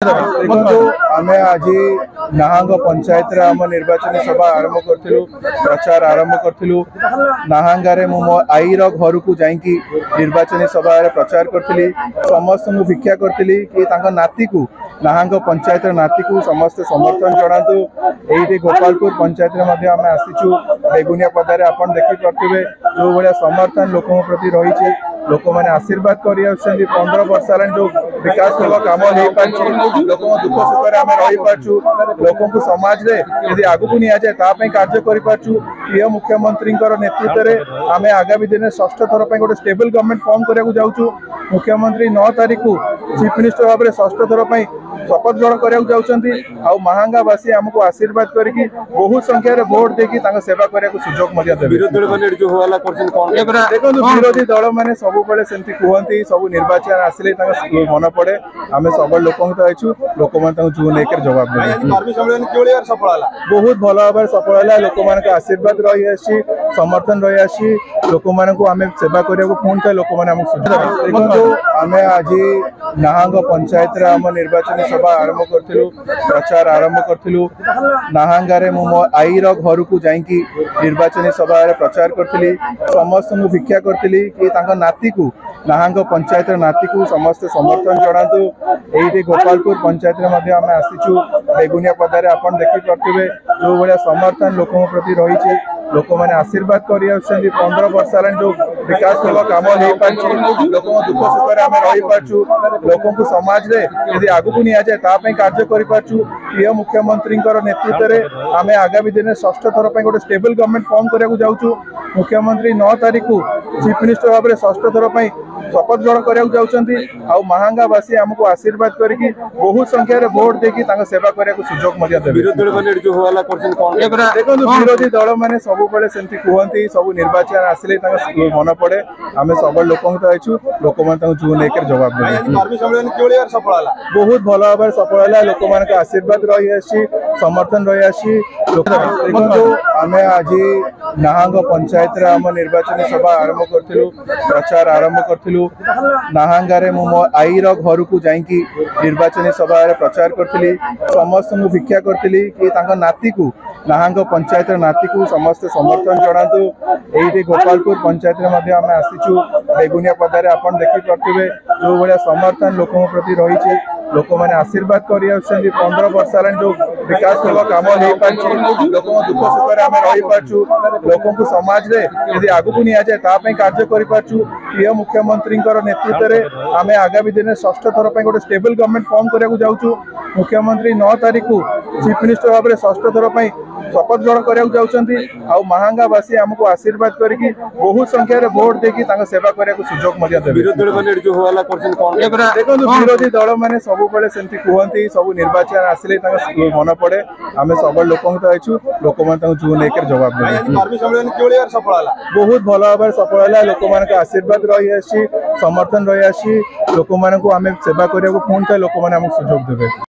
ଦେଖନ୍ତୁ, ଆମେ ଆଜି ନାହାଙ୍ଗ ପଞ୍ଚାୟତରେ ଆମ ନିର୍ବାଚନୀ ସଭା ଆରମ୍ଭ କରିଥିଲୁ, ପ୍ରଚାର ଆରମ୍ଭ କରିଥିଲୁ। ନାହାଙ୍ଗାରେ ମୁଁ ମୋ ଆଈର ଘରକୁ ଯାଇକି ନିର୍ବାଚନୀ ସଭାରେ ପ୍ରଚାର କରିଥିଲି। ସମସ୍ତଙ୍କୁ ଭିକ୍ଷା କରିଥିଲି କି ତାଙ୍କ ନାତିକୁ, ନାହାଙ୍ଗ ପଞ୍ଚାୟତର ନାତିକୁ ସମସ୍ତେ ସମର୍ଥନ ଜଣାନ୍ତୁ। ଏଇଠି ଗୋପାଳପୁର ପଞ୍ଚାୟତରେ ମଧ୍ୟ ଆମେ ଆସିଛୁ। ବେଗୁନିଆ ପଦାରେ ଆପଣ ଦେଖିପାରୁଥିବେ ଯେଉଁ ଭଳିଆ ସମର୍ଥନ ଲୋକଙ୍କ ପ୍ରତି ରହିଛି, ଲୋକମାନେ ଆଶୀର୍ବାଦ କରି ଆସୁଛନ୍ତି। 15 ବର୍ଷ ହେଲାଣି ଯୋଉ ବିକାଶମୂଳକ କାମ ହେଇପାରିଛି, ଲୋକଙ୍କ ଦୁଃଖ ସୁଖରେ ଆମେ ରହିପାରୁଛୁ, ଲୋକଙ୍କୁ ସମାଜରେ ଯଦି ଆଗକୁ ନିଆଯାଏ ତା ପାଇଁ କାର୍ଯ୍ୟ କରିପାରୁଛୁ। ପ୍ରିୟ ମୁଖ୍ୟମନ୍ତ୍ରୀଙ୍କର ନେତୃତ୍ୱରେ ଆମେ ଆଗାମୀ ଦିନରେ ଷଷ୍ଠ ଥର ପାଇଁ ଗୋଟେ ଷ୍ଟେବଲ ଗଭର୍ଣ୍ଣମେଣ୍ଟ ଫର୍ମ କରିବାକୁ ଯାଉଛୁ। ମୁଖ୍ୟମନ୍ତ୍ରୀ 9 ତାରିଖକୁ ଚିଫ ମିନିଷ୍ଟର ଭାବରେ ଷଷ୍ଠ ଥର ପାଇଁ ଶପଥ ଗ୍ରହଣ କରିବାକୁ ଯାଉଛନ୍ତି, ଆଉ ମାହାଙ୍ଗାବାସୀ ଆମକୁ ଆଶୀର୍ବାଦ କରିକି ବହୁତ ସଂଖ୍ୟାରେ ଭୋଟ ଦେଇକି ତାଙ୍କ ସେବା କରିବାକୁ ସୁଯୋଗ ମଧ୍ୟ ଦେବେ। ବିରୋଧୀ ଦଳମାନେ ଏଠି ଯୋଉ ହଲ୍ଲା କରୁଛନ୍ତି, କଣ? ଦେଖନ୍ତୁ, ବିରୋଧୀ ଦଳ ମାନେ ସବୁବେଳେ ସେମିତି କୁହନ୍ତି। ସବୁ ନିର୍ବାଚନ ଆସିଲେ ତାଙ୍କ ମନେ ପଡେ। ଆମେ ସବୁବେଳେ ଲୋକଙ୍କ ତ ଅଛୁ, ଲୋକମାନେ ତାଙ୍କୁ ଜୁନ 1ରେ ଜବାବ ଦେବେ। କର୍ମୀ ସମ୍ମିଳନୀ କିଭଳି ଭାବରେ ସଫଳ ହେଲା? ବହୁତ ଭଲ ଭାବରେ ସଫଳ ହେଲା। ଲୋକମାନଙ୍କ ଆଶୀର୍ବାଦ ରହିଆସିଛି, ସମର୍ଥନ ରହିଆସିଛି। ଲୋକମାନଙ୍କୁ ଆମେ ସେବା କରିବାକୁ ପୁଣି ଥରେ ଲୋକମାନେ ଆମକୁ ସୁଯୋଗ। ଦେଖନ୍ତୁ, ଆମେ ଆଜି ନାହାଙ୍ଗ ପଞ୍ଚାୟତରେ ଆମ ନିର୍ବାଚନୀ ସଭା ଆରମ୍ଭ କରିଥିଲୁ, ପ୍ରଚାର ଆରମ୍ଭ କରିଥିଲୁ। ନାହାଙ୍ଗାରେ ମୁଁ ମୋ ଆଈର ଘରକୁ ଯାଇକି ନିର୍ବାଚନୀ ସଭାରେ ପ୍ରଚାର କରିଥିଲି। ସମସ୍ତଙ୍କୁ ଭିକ୍ଷା କରିଥିଲି କି ତାଙ୍କ ନାତିକୁ, ନାହାଙ୍ଗ ପଞ୍ଚାୟତର ନାତିକୁ ସମସ୍ତେ ସମର୍ଥନ ଜଣାନ୍ତୁ। ଏଇଠି ଗୋପାଳପୁର ପଞ୍ଚାୟତରେ ମଧ୍ୟ ଆମେ ଆସିଛୁ। ବେଗୁନିଆ ପଦାରେ ଆପଣ ଦେଖିପାରୁଥିବେ ଯେଉଁ ଭଳିଆ ସମର୍ଥନ ଲୋକଙ୍କ ପ୍ରତି ରହିଛି, ଲୋକମାନେ ଆଶୀର୍ବାଦ କରି ଆସୁଛନ୍ତି। 15 ବର୍ଷ ହେଲାଣି ଯୋଉ ବିକାଶମୂଳକ କାମ ହେଇପାରିଛି, ଲୋକଙ୍କ ଦୁଃଖ ସୁଖରେ ଆମେ ରହିପାରୁଛୁ, ଲୋକଙ୍କୁ ସମାଜରେ ଯଦି ଆଗକୁ ନିଆଯାଏ ତା ପାଇଁ କାର୍ଯ୍ୟ କରିପାରୁଛୁ। ପ୍ରିୟ ମୁଖ୍ୟମନ୍ତ୍ରୀଙ୍କର ନେତୃତ୍ୱରେ ଆମେ ଆଗାମୀ ଦିନରେ ଷଷ୍ଠ ଥର ପାଇଁ ଗୋଟେ ଷ୍ଟେବଲ ଗଭର୍ଣ୍ଣମେଣ୍ଟ ଫର୍ମ କରିବାକୁ ଯାଉଛୁ। ମୁଖ୍ୟମନ୍ତ୍ରୀ 9 ତାରିଖକୁ ଚିଫ ମିନିଷ୍ଟର ଭାବରେ ଷଷ୍ଠ ଥର ପାଇଁ ଶପଥ ଗ୍ରହଣ କରିବାକୁ ଯାଉଛନ୍ତି, ଆଉ ମାହାଙ୍ଗାବାସୀ ଆମକୁ ଆଶୀର୍ବାଦ କରିକି ବହୁତ ସଂଖ୍ୟାରେ ଭୋଟ ଦେଇକି ତାଙ୍କ ସେବା କରିବାକୁ ସୁଯୋଗ ମଧ୍ୟ ଦେବେ। ବିରୋଧୀ ଦଳମାନେ ଏଠି ଯୋଉ ହଲ୍ଲା କରୁଛନ୍ତି, କଣ? ଦେଖନ୍ତୁ, ବିରୋଧୀ ଦଳ ମାନେ ସବୁବେଳେ ସେମିତି କୁହନ୍ତି। ସବୁ ନିର୍ବାଚନ ଆସିଲେ ତାଙ୍କ ମନେ ପଡେ। ଆମେ ସବୁବେଳେ ଲୋକଙ୍କ ତ ଅଛୁ, ଲୋକମାନେ ତାଙ୍କୁ ଜୁନ 1ରେ ଜବାବ ଦେବେ। କର୍ମୀ ସମ୍ମିଳନୀ କିଭଳି ଭାବରେ ସଫଳ ହେଲା? ବହୁତ ଭଲ ଭାବରେ ସଫଳ ହେଲା। ଲୋକମାନଙ୍କ ଆଶୀର୍ବାଦ ରହିଆସିଛି, ସମର୍ଥନ ରହିଆସିଛି। ଦେଖନ୍ତୁ, ଆମେ ଆଜି ନାହାଙ୍ଗ ପଞ୍ଚାୟତରେ ଆମ ନିର୍ବାଚନୀ ସଭା ଆରମ୍ଭ କରିଥିଲୁ, ପ୍ରଚାର ଆରମ୍ଭ କରିଥିଲୁ। ନାହାଙ୍ଗାରେ ମୁଁ ମୋ ଆଈର ଘରକୁ ଯାଇକି ନିର୍ବାଚନୀ ସଭାରେ ପ୍ରଚାର କରିଥିଲି। ସମସ୍ତଙ୍କୁ ଭିକ୍ଷା କରିଥିଲି କି ତାଙ୍କ ନାତିକୁ, ନାହାଙ୍ଗ ପଞ୍ଚାୟତର ନାତିକୁ ସମସ୍ତେ ସମର୍ଥନ ଜଣାନ୍ତୁ। ଏଇଠି ଗୋପାଳପୁର ପଞ୍ଚାୟତରେ ମଧ୍ୟ ଆମେ ଆସିଛୁ। ବେଗୁନିଆ ପଦାରେ ଆପଣ ଦେଖିପାରୁଥିବେ ଯେଉଁ ଭଳିଆ ସମର୍ଥନ ଲୋକଙ୍କ ପ୍ରତି ରହିଛି, ଲୋକମାନେ ଆଶୀର୍ବାଦ କରି ଆସୁଛନ୍ତି। 15 ବର୍ଷ ହେଲାଣି ଯୋଉ ବିକାଶମୂଳକ କାମ ହେଇପାରିଛି, ଲୋକଙ୍କ ଦୁଃଖ ସୁଖରେ ଆମେ ରହିପାରୁଛୁ, ଲୋକଙ୍କୁ ସମାଜରେ ଯଦି ଆଗକୁ ନିଆଯାଏ ତା ପାଇଁ କାର୍ଯ୍ୟ କରିପାରୁଛୁ। ପ୍ରିୟ ମୁଖ୍ୟମନ୍ତ୍ରୀଙ୍କର ନେତୃତ୍ୱରେ ଆମେ ଆଗାମୀ ଦିନରେ ଷଷ୍ଠ ଥର ପାଇଁ ଗୋଟେ ଷ୍ଟେବଲ ଗଭର୍ଣ୍ଣମେଣ୍ଟ ଫର୍ମ କରିବାକୁ ଯାଉଛୁ। ମୁଖ୍ୟମନ୍ତ୍ରୀ 9 ତାରିଖକୁ ଚିଫ ମିନିଷ୍ଟର ଭାବରେ ଷଷ୍ଠ ଥର ପାଇଁ ଶପଥ ଗ୍ରହଣ କରିବାକୁ ଯାଉଛନ୍ତି, ଆଉ ମାହାଙ୍ଗାବାସୀ ଆମକୁ ଆଶୀର୍ବାଦ କରିକି ବହୁତ ସଂଖ୍ୟାରେ ଭୋଟ ଦେଇକି ତାଙ୍କ ସେବା କରିବାକୁ ସୁଯୋଗ ମଧ୍ୟ ଦେବେ। ବିରୋଧୀ ଦଳମାନେ ଏଠି ଯୋଉ ହଲ୍ଲା କରୁଛନ୍ତି, କଣ? ଦେଖନ୍ତୁ, ବିରୋଧୀ ଦଳ ମାନେ ସବୁବେଳେ ସେମିତି କୁହନ୍ତି। ସବୁ ନିର୍ବାଚନ ଆସିଲେ ତାଙ୍କ ମନେ ପଡେ। ଆମେ ସବୁବେଳେ ଲୋକଙ୍କ ତ ଅଛୁ, ଲୋକମାନେ ତାଙ୍କୁ ଜୁନ 1ରେ ଜବାବ ଦେବେ। କର୍ମୀ ସମ୍ମିଳନୀ କିଭଳି ଭାବରେ ସଫଳ ହେଲା? ବହୁତ ଭଲ ଭାବରେ ସଫଳ ହେଲା। ଲୋକମାନଙ୍କ ଆଶୀର୍ବାଦ ରହିଆସିଛି, ସମର୍ଥନ ରହିଆସିଛି। ଲୋକମାନଙ୍କୁ ଆମେ ସେବା କରିବାକୁ ପୁଣି ଥରେ ଲୋକମାନେ ଆମକୁ ସୁଯୋଗ ଦେବେ।